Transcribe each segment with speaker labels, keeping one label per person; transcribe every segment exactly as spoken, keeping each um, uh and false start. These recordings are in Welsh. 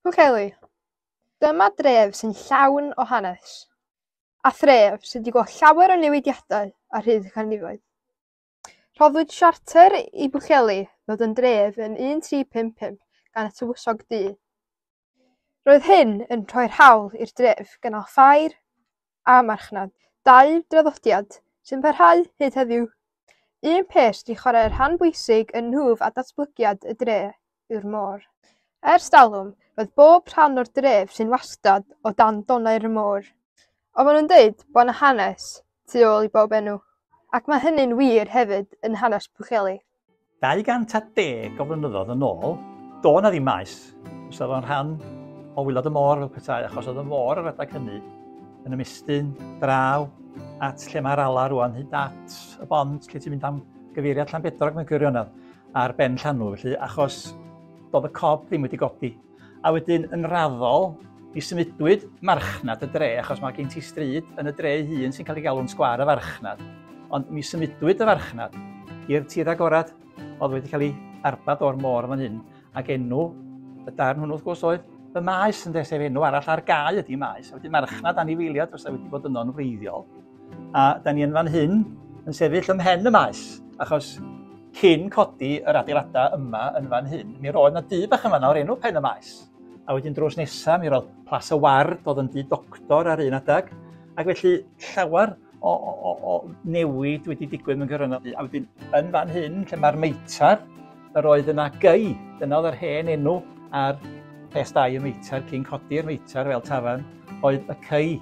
Speaker 1: Pwllheli. Dyma dref sy'n llawn o hanes, a thref sydd wedi gweld llawer o newidiadau ar hyd y canrifoedd. Rhoddwyd siarter i Bwllheli ddod yn dref yn un tri pump pump gan y Tywysog Du. Roedd hyn yn rhoi'r hawl i'r dref gynnal ffair a marchnad, dau draddodiad sy'n parhau hyd heddiw. Un peth sydd wedi chwarae rhan bwysig yn nhwf a datblygiad y dre yw'r môr. Ers talwm, roedd bob rhan o'r dref sy'n wastad o dan donnau'r môr. Ond maen nhw'n dweud bod yna hanes tu ôl i bob enw, ac mae hynny'n wir hefyd yn hanes Pwllheli.
Speaker 2: dau gant a deg o flynyddoedd yn ôl, do na ddim maes. Fysa fo'n rhan o waelod y môr fel petai, achos oedd y môr ar adeg hynny yn ymestyn draw at lle mae'r ala rwan, hyd at y bont lle ti'n mynd am gyfeiriad Llanbedrog mewn gwirionedd, ar ben llanw, felly, achos doedd y cob ddim wedi godi. A wedyn yn raddol, mi symudwyd marchnad y dre, achos mae gen ti stryd yn y dre ei hun sy'n cael ei galw'n sgwâr y farchnad. Ond mi symudwyd y farchnad i'r tir agorad oedd wedi cael ei arbad o'r môr fan hyn, ac enw y darn hwnnw wrth gwrs oedd y maes, ynde, sef enw arall ar gae ydy maes. A wedyn marchnad anifeiliad fysa wedi bod yno'n wreiddiol. A da ni yn fan hyn yn sefyll ym mhen y maes, achos cyn codi yr adeiladau yma yn fan hyn, mi roedd yna dŷ bach yma o'r enw Pen y Maes. A wedyn drws nesaf, mi roedd Plas y Ward, oedd yn dŷ doctor ar un adeg, ac felly llawer o, o, o, o newid wedi digwydd mewn gwirionedd. A wedyn yn fan hyn, lle mae'r meitar, yr oedd yna gei, dyna oedd yr hen enw ar rhes dau y meitar, cyn codi'r meitar fel tafarn, oedd y cei,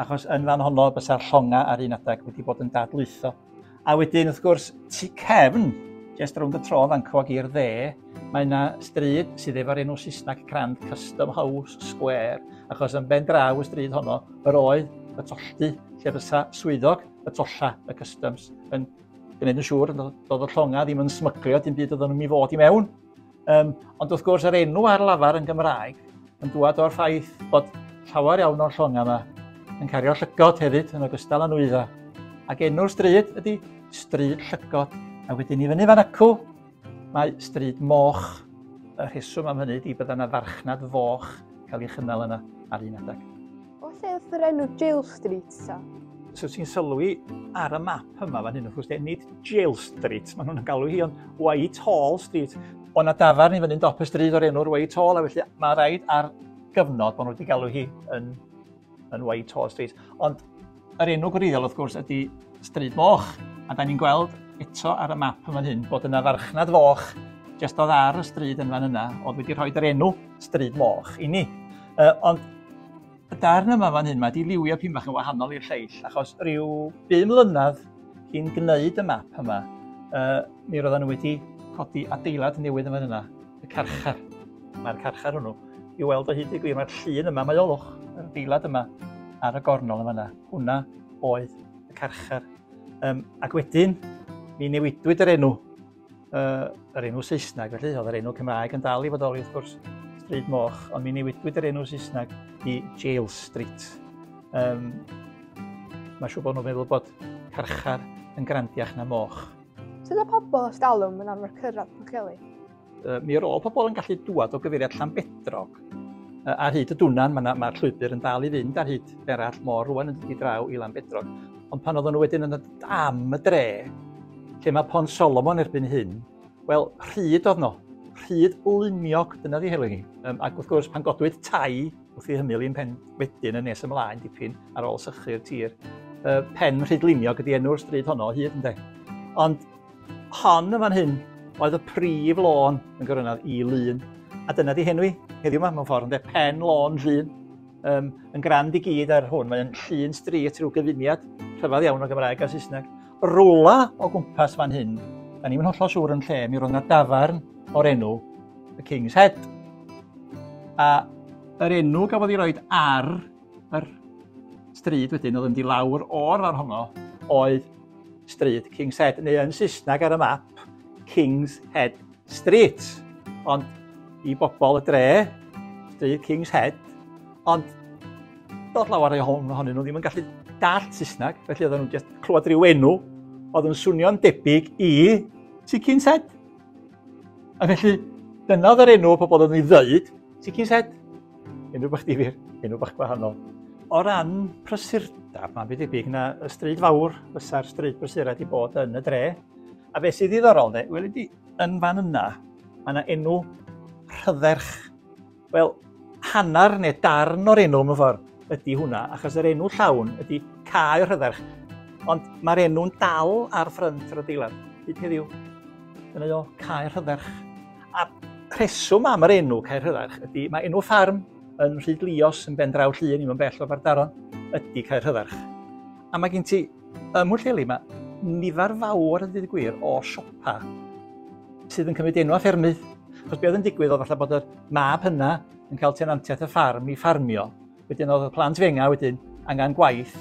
Speaker 2: achos yn fan honno bysa'r llonga ar un adeg wedi bod yn dadlwytho. A wedyn, wrth gwrs, tu cefn, jyst rownd y tro fanco ag i'r dde, mae yna stryd sydd efo'r enw Saesneg crand Custom House Square, achos yn ben draw y stryd honno, yr oedd y tolldy lle fysa swyddog y tolla, y customs, yn gwneud yn siŵr doedd y llonga ddim yn smyglio dim byd oedden nhw'n i fod i mewn. Um, ond wrth gwrs, yr enw ar lafar yn Gymraeg yn dŵad o'r ffaith bod llawer iawn o'r llonga yma yn cario llygod hefyd yn ogystal â nwyddau. Ac enw'r stryd ydy Stryd Llygod. A wedyn i fyny fan acw, mae Stryd Moch. Y rheswm am hynny ydy bydda yna farchnad foch cael ei chynnal yna ar un adeg.
Speaker 1: O lle oedd yr enw Jail Street ta?
Speaker 2: So ti'n sylwi ar y map yma fan hyn, wrth gwrs, nid Jail Street, maen nhw'n galw hi, ond Whitehall Street. O na dafarn i fyny'n dop y stryd o'r enw'r Whitehall, a felly mae rhaid ar gyfnod bod nhw wedi galw hi yn, yn Whitehall Street. Ond yr enw gwreiddiol, wrth gwrs, ydy Stryd Moch. A da ni'n gweld eto ar y map yma hyn bod yna farchnad foch jyst oedd ar y stryd yn fan yna, oedd wedi rhoi yr enw Stryd Moch i ni. Uh, ond y darn yma fan hyn, mae di liwio pyn bach yn wahanol i'r lleill, achos rhyw bum mlynedd cyn gwneud y map yma, uh, mi roedden nhw wedi codi adeilad newydd yn fan yna, y carchar. Mae'r carchar hwnnw i weld o hyd i gwir, mae'r llun yma, mae olwch, yr adeilad yma ar y gornol yma yna. Hwna oedd y carchar. Um, ac wedyn, mi newidwyd yr enw, uh, yr enw Saesneg, felly oedd yr enw Cymraeg yn dal i fodoli wrth gwrs, Stryd Moch, ond mi newidwyd yr enw Saesneg i Jail Street. Um, Mae'n siŵr bod nhw'n meddwl bod carchar yn grandiach na moch.
Speaker 1: Sut oedd pobl ers talwm yn arfer cyrraedd Pwllheli?
Speaker 2: Uh, mi roedd pobl yn gallu dŵad o gyfeiriad Llanbedrog uh, ar hyd y Dwnan, mae'r ma llwybr yn dal i fynd ar hyd berall môr rwan yn dod i draw i Lanbedrog. Ond pan oedden nhw wedyn yn dod am y dre, lle mae Pont Solomon erbyn hyn, wel, rhyd oedd no, rhyd lumiog, dyna di helgu hi. Um, ac wrth gwrs, pan godwyd tai wrth i hymyl i'n pen wedyn yn nes ymlaen dipyn ar ôl sychu'r tir, uh, pen rhyd lumiog ydy enw'r stryd honno o hyd, ynde. Ond hon yn fan hyn oedd y prif lôn yn gwirionedd i Lŷn. A dyna di henwi heddiw yma mewn ffordd, ynde, pen lôn Llŷn. Um, yn grand i gyd ar hwn, mae'n Llŷn Street, rhyw gyfuniad rhyfedd iawn o Gymraeg a Saesneg. Rwla o gwmpas fan hyn, da ni'n hollol siŵr yn lle, mi roedd yna dafarn o'r enw y King's Head. A yr enw gafodd ei roed ar yr stryd wedyn, oedd yn mynd i lawr o'r fan honno, oedd stryd King's Head, neu yn Saesneg ar y map, King's Head Street. Ond i bobl y dre, stryd King's Head, ond dod lawer ohonyn nhw ddim yn gallu dallt Saesneg, felly oedden nhw'n just clywed rhyw enw oedd yn swnio'n debyg i Tŷ King's Head. A felly, dyna oedd yr enw pobl oedd yn ei ddeud, Tŷ King's Head. Enw bach difyr, enw bach gwahanol. O ran prysurdeb, mae'n byd debyg na y stryd fawr fysa'r stryd brysura wedi bod yn y dre. A beth sydd ddiddorol, de, weli di, yn fan yna, mae yna enw Rhydderch. Wel, hanner neu darn o'r enw mewn ffordd ydy hwnna, achos yr enw llawn ydy Cae Rhydderch. Ond mae'r enw'n dal ar ffrynt yr adeilad, hyd heddiw. Dyna o, Cae Rhydderch. A rheswm am yr enw Cae Rhydderch ydy, mae enw ffarm yn Rhydlios yn ben draw Llŷn, ddim yn bell o Aberdaron, ydy Cae Rhydderch. A mae gen ti, ym Mhwllheli, mae nifer fawr, a dweud y gwir, o siopa sydd yn cymryd enw a ffermydd. Achos be oedd yn digwydd oedd falle bod y mab hynna yn cael tenantiaeth y ffarm i ffarmio. Wedyn oedd y plant fenga wedyn angen gwaith,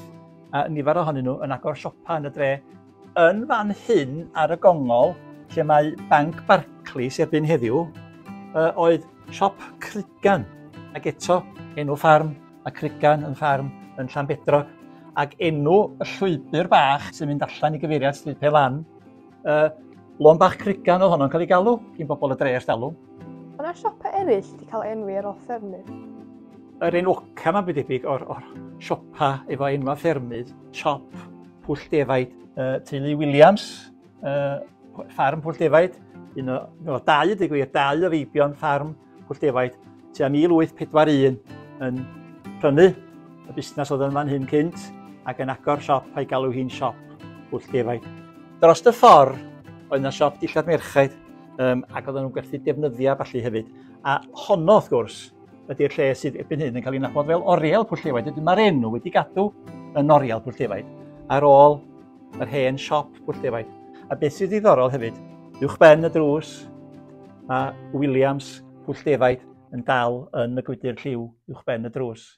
Speaker 2: a nifer ohonyn nhw yn agor siopa yn y dre. Yn fan hyn ar y gongol, lle mae Banc Barclays erbyn heddiw, oedd siop Crugan, ac eto enw ffarm, a Crugan yn ffarm yn Llanbedrog, ac enw y llwybr bach sy'n mynd allan i gyfeiriad Stryd Pelan, uh, Lôn Bach Crugan oedd honno'n cael ei galw, gyn bobl y dre ers talwm.
Speaker 1: Mae yna siopau eraill wedi cael enwi ar ôl ffermydd.
Speaker 2: Yr enwoca mae'n debyg o'r, or siopa efo enwa ffermydd, siop Pwll Defaid, uh, teulu Williams, uh, ffarm Pwll Defaid, un o, no, dau ydy gwir, dau o feibion ffarm Pwll Defaid, tua mil wyth pedwar un yn prynu y busnes oedd yn fan hyn cynt ac yn agor siop a'i galw hi'n siop Pwll Defaid. Dros y ffordd oedd yna siop dillad merchaid, um, ac oedden nhw'n gwerthu defnyddiau falle hefyd. A honno, wrth gwrs, ydy'r lle sydd erbyn hyn yn cael ei nabod fel Oriel Pwll Defaid. Wedyn mae'r enw wedi gadw yn Oriel Pwll Defaid ar ôl yr hen siop Pwll Defaid. A beth sydd ddiddorol hefyd, uwch ben y drws, mae Williams Pwll Defaid yn dal yn y gwydr lliw uwch ben y drws.